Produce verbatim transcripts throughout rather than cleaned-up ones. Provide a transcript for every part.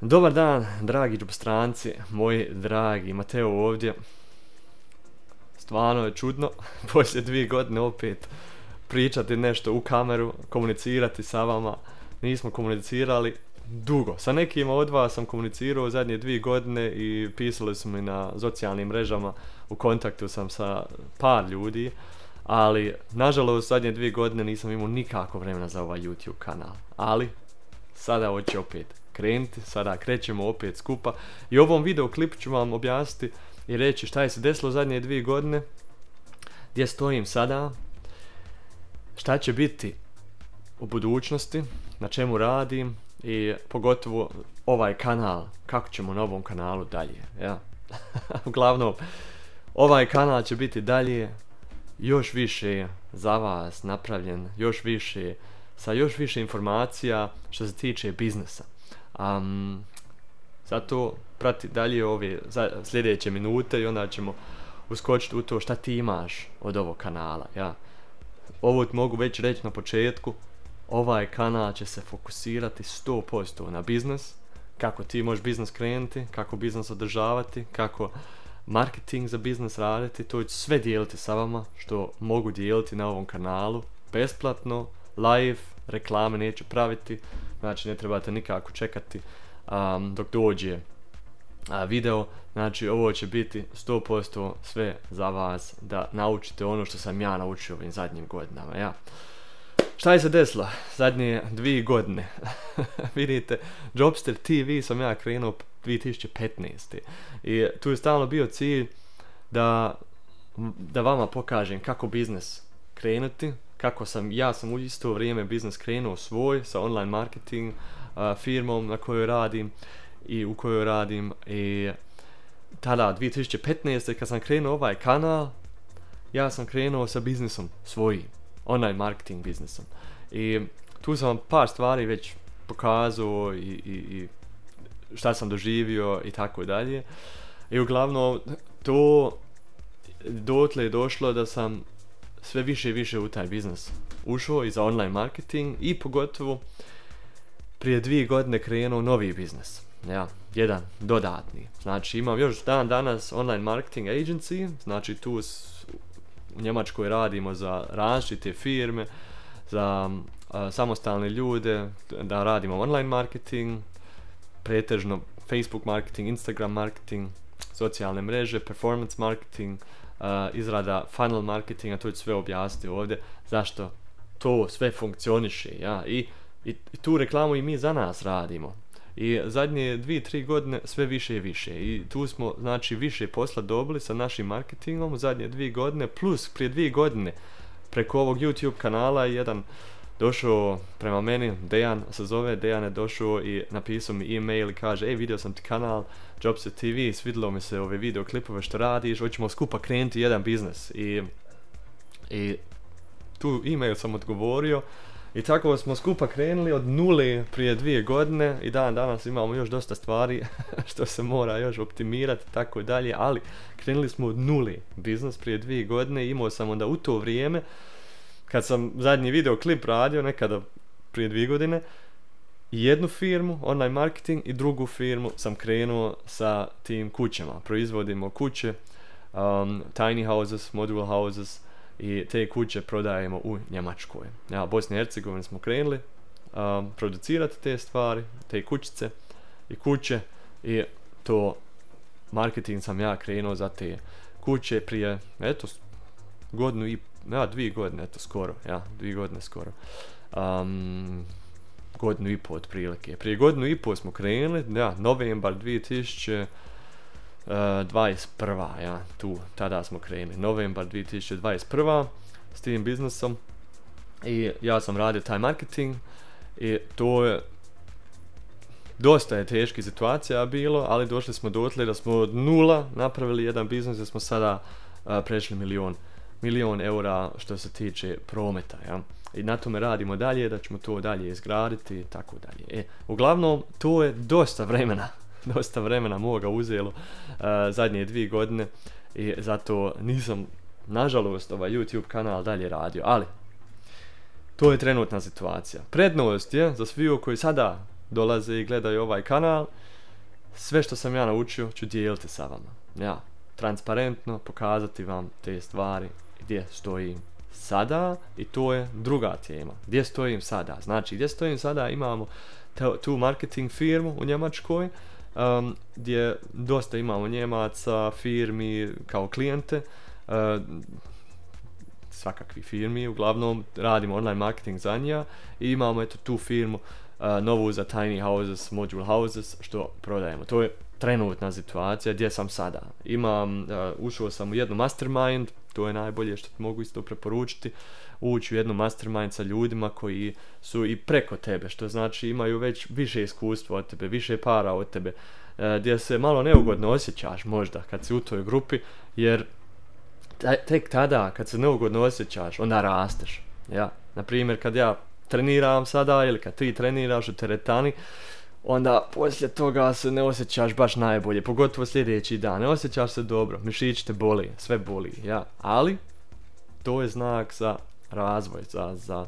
Dobar dan, dragi džubostranci, moji dragi Mateo ovdje. Stvarno je čudno, poslije dvije godine opet pričati nešto u kameru, komunicirati sa vama. Nismo komunicirali dugo. Sa nekima od vas sam komunicirao zadnje dvije godine i pisali su mi na socijalnim mrežama, u kontaktu sam sa par ljudi, ali nažalost zadnje dvije godine nisam imao nikako vremena za ovaj YouTube kanal. Ali sada hoće opet krenuti, sada krećemo opet skupa i u ovom video klipu ću vam objasniti i reći šta je se desilo zadnje dvije godine, gdje stojim sada, šta će biti u budućnosti, na čemu radim i pogotovo ovaj kanal, kako ćemo na ovom kanalu dalje. Ja. Uglavnom, ovaj kanal će biti dalje još više za vas napravljen, još više, sa još više informacija što se tiče biznesa. Um, zato prati dalje ove sljedeće minute i onda ćemo uskočiti u to šta ti imaš od ovog kanala. Ja. Ovo mogu već reći na početku, ovaj kanal će se fokusirati sto posto na biznis, kako ti možeš biznis krenuti, kako biznis održavati, kako marketing za biznis raditi, to ću sve dijeliti sa vama što mogu dijeliti na ovom kanalu, besplatno, live, reklame neću praviti, znači ne trebate nikako čekati um, dok dođe uh, video, znači ovo će biti sto posto sve za vas da naučite ono što sam ja naučio ovim zadnjim godinama. Ja. Šta je se desilo zadnje dvije godine? Vidite, Jobster T V sam ja krenuo dvije tisuće petnaeste. I tu je stalno bio cilj da, da vama pokažem kako biznis krenuti, kako sam, ja sam u isto vrijeme biznis krenuo svoj sa online marketing uh, firmom na kojoj radim i u kojoj radim i tada dvije tisuće petnaeste kad sam krenuo ovaj kanal, ja sam krenuo sa biznisom svojim, online marketing biznisom. I tu sam vam par stvari već pokazao i, i, i šta sam doživio i tako dalje. I uglavnom to dotle je došlo da sam sve više i više u taj biznis ušao i za online marketing i pogotovo prije dvije godine krenuo novi biznis. Ja, jedan dodatni. Znači imam još dan danas online marketing agency, znači tu s, u Njemačkoj radimo za različite firme, za a, samostalne ljude, da radimo online marketing, pretežno Facebook marketing, Instagram marketing, socijalne mreže, performance marketing, uh, izrada funnel marketinga, to ću sve objasniti ovdje, zašto to sve funkcioniše. Ja? I, i, I tu reklamu i mi za nas radimo. I zadnje dvije, tri godine sve više i više. I tu smo znači više posla dobili sa našim marketingom u zadnje dvije godine, plus prije dvije godine preko ovog YouTube kanala jedan došao prema meni, Dejan se zove, Dejan je došao i napisao mi e-mail i kaže, ej, vidio sam ti kanal Jobster T V, svidilo mi se ove video klipove što radiš, hoćemo skupa krenuti jedan biznis. I, i tu e-mail sam odgovorio i tako smo skupa krenuli od nule prije dvije godine i dan danas imamo još dosta stvari što se mora još optimirati i tako dalje, ali krenuli smo od nule biznis prije dvije godine i imao sam onda u to vrijeme kad sam zadnji video klip radio nekada prije dvije godine, jednu firmu, online marketing, i drugu firmu sam krenuo sa tim kućama. Proizvodimo kuće, um, tiny houses, modular houses i te kuće prodajemo u Njemačkoj. Ja, Bosni i Hercegovini smo krenuli um, producirati te stvari, te kućice i kuće i to marketing sam ja krenuo za te kuće prije, eto, godinu i ja, dvije godine, eto, skoro, ja, dvije godine skoro. Um, godinu i po otprilike. Prije godinu i po smo krenuli, ja, novembar dvije tisuće dvadeset prva, ja, tu, tada smo krenuli, novembar dvije tisuće dvadeset prva s tim biznisom i ja sam radio taj marketing i to je dosta je teških situacija bilo, ali došli smo dotle da smo od nula napravili jedan biznis da smo sada uh, prešli milion milion eura što se tiče prometa, ja. I na tome radimo dalje, da ćemo to dalje izgraditi i tako dalje. E, uglavnom, to je dosta vremena, dosta vremena moga uzelo uh, zadnje dvije godine i zato nisam, nažalost, ovaj YouTube kanal dalje radio, ali to je trenutna situacija. Prednost je za svi koji sada dolaze i gledaju ovaj kanal, sve što sam ja naučio ću dijeliti sa vama. Ja, transparentno pokazati vam te stvari gdje stojim sada i to je druga tema. Gdje stojim sada? Znači, gdje stojim sada imamo tu marketing firmu u Njemačkoj, um, gdje dosta imamo Njemaca, firmi kao klijente, uh, svakakvi firmi, uglavnom radimo online marketing za njega i imamo eto tu firmu uh, novu za tiny houses, module houses, što prodajemo. To je trenutna situacija gdje sam sada. Imam, uh, ušao sam u jednu mastermind, to je najbolje što mogu isto preporučiti, ući u jednu mastermind sa ljudima koji su i preko tebe, što znači imaju već više iskustva od tebe, više para od tebe, uh, gdje se malo neugodno osjećaš možda kad si u toj grupi, jer tek tada kad se neugodno osjećaš, onda rasteš. Ja, na primjer kad ja treniram sada ili kad ti treniraš u teretani, onda poslije toga se ne osjećaš baš najbolje, pogotovo sljedeći dan, ne osjećaš se dobro, mišić te boli, sve boli, ja, ali to je znak za razvoj, za, za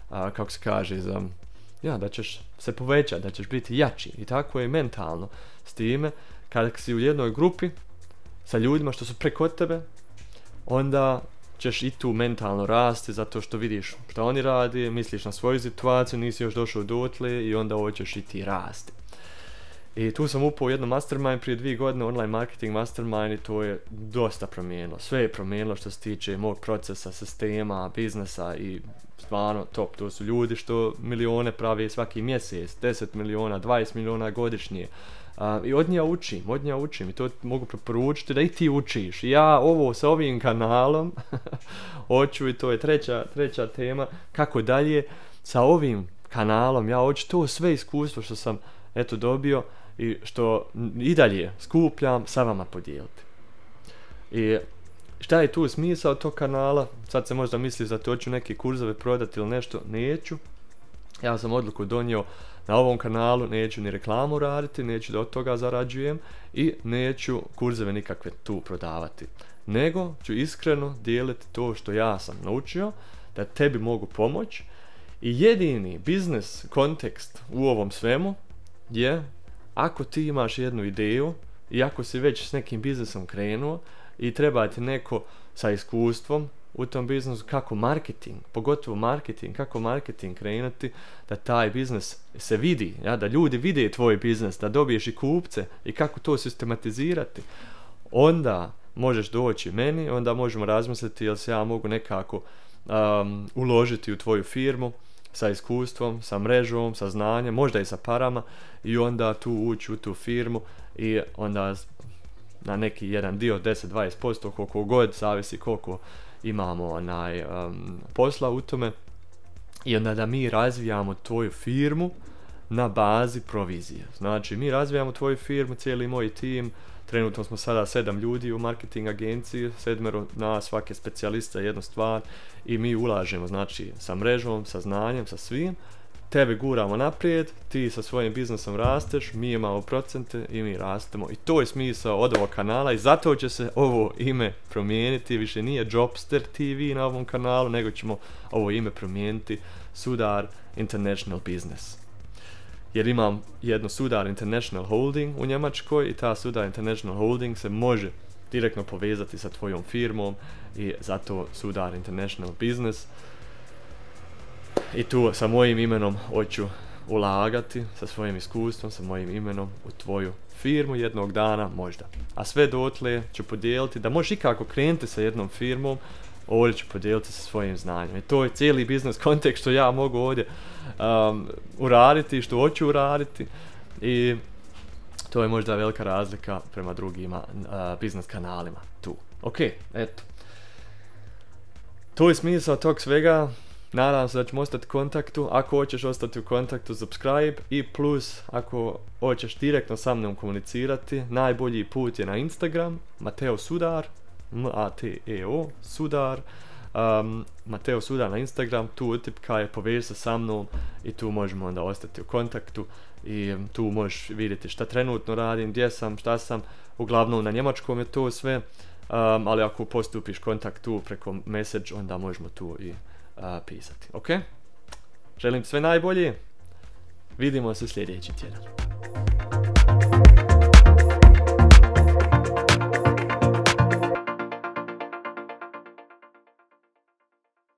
a, kako se kaže, za, ja, da ćeš se povećati, da ćeš biti jači i tako je mentalno s time, kada si u jednoj grupi sa ljudima što su preko tebe, onda ćeš i tu mentalno rasti zato što vidiš što oni radi, misliš na svoju situaciju, nisi još došao dotle i onda hoćeš i ti rasti. I tu sam upao u jedno mastermind prije dvije godine, online marketing mastermind, i to je dosta promijenilo. Sve je promijenilo što se tiče mog procesa, sistema, biznesa i stvarno top. To su ljudi što milione pravi svaki mjesec, deset miliona, dvadeset miliona godišnje. Uh, I od nja učim, od nja učim i to mogu preporučiti da i ti učiš. Ja ovo sa ovim kanalom hoću, i to je treća, treća tema, kako dalje sa ovim kanalom, ja hoću to sve iskustvo što sam eto dobio i što i dalje skupljam sa vama podijeliti. I šta je tu smisao tog kanala? Sad se možda misli da to hoću neke kurzove prodati ili nešto, neću. Ja sam odluku donio na ovom kanalu, neću ni reklamu raditi, neću da od toga zarađujem i neću kurzeve nikakve tu prodavati. Nego ću iskreno dijeliti to što ja sam naučio, da tebi mogu pomoći. I jedini biznes kontekst u ovom svemu je ako ti imaš jednu ideju i ako si već s nekim biznesom krenuo i treba ti neko sa iskustvom u tom biznesu, kako marketing, pogotovo marketing, kako marketing krenuti, da taj biznes se vidi, ja, da ljudi vide tvoj biznes, da dobiješ i kupce i kako to sistematizirati, onda možeš doći meni, onda možemo razmisliti jel se ja mogu nekako um, uložiti u tvoju firmu sa iskustvom, sa mrežom, sa znanjem, možda i sa parama, i onda tu ući u tu firmu i onda na neki jedan dio, deset do dvadeset posto, koliko god, zavisi koliko imamo onaj um, posla u tome, i onda da mi razvijamo tvoju firmu na bazi provizije. Znači mi razvijamo tvoju firmu, cijeli moj tim, trenutno smo sada sedam ljudi u marketing agenciji, sedmero na svake specijalista jednu stvar, i mi ulažemo znači sa mrežom, sa znanjem, sa svim, tebe guramo naprijed, ti sa svojim biznesom rasteš, mi imamo procente i mi rastemo, i to je smisao od ovog kanala, i zato će se ovo ime promijeniti, više nije Jobster T V na ovom kanalu, nego ćemo ovo ime promijeniti Sudar International Business. Jer imam jednu Sudar International Holding u Njemačkoj i ta Sudar International Holding se može direktno povezati sa tvojom firmom, i zato Sudar International Business. I tu sa mojim imenom hoću ulagati, sa svojim iskustvom, sa mojim imenom u tvoju firmu jednog dana možda. A sve dotle ću podijeliti da možeš ikako krenuti sa jednom firmom, ovdje ću podijeliti sa svojim znanjem. I to je cijeli biznes kontekst što ja mogu ovdje um, uraditi, što hoću uraditi, i to je možda velika razlika prema drugima uh, biznes kanalima tu. Ok, eto. To je smisao tog svega. Nadam se da ćemo ostati u kontaktu. Ako hoćeš ostati u kontaktu, subscribe, i plus ako hoćeš direktno sa mnom komunicirati, najbolji put je na Instagram, Mateo Sudar, M A T E O, Sudar, um, Mateo Sudar na Instagram, tu utipkaj, poveži se sa mnom i tu možemo onda ostati u kontaktu, i tu možeš vidjeti šta trenutno radim, gdje sam, šta sam, uglavnom na njemačkom je to sve, um, ali ako postupiš kontakt tu preko message, onda možemo tu i uh, pisati, ok? Želim sve najbolje, vidimo se sljedeći tjedan.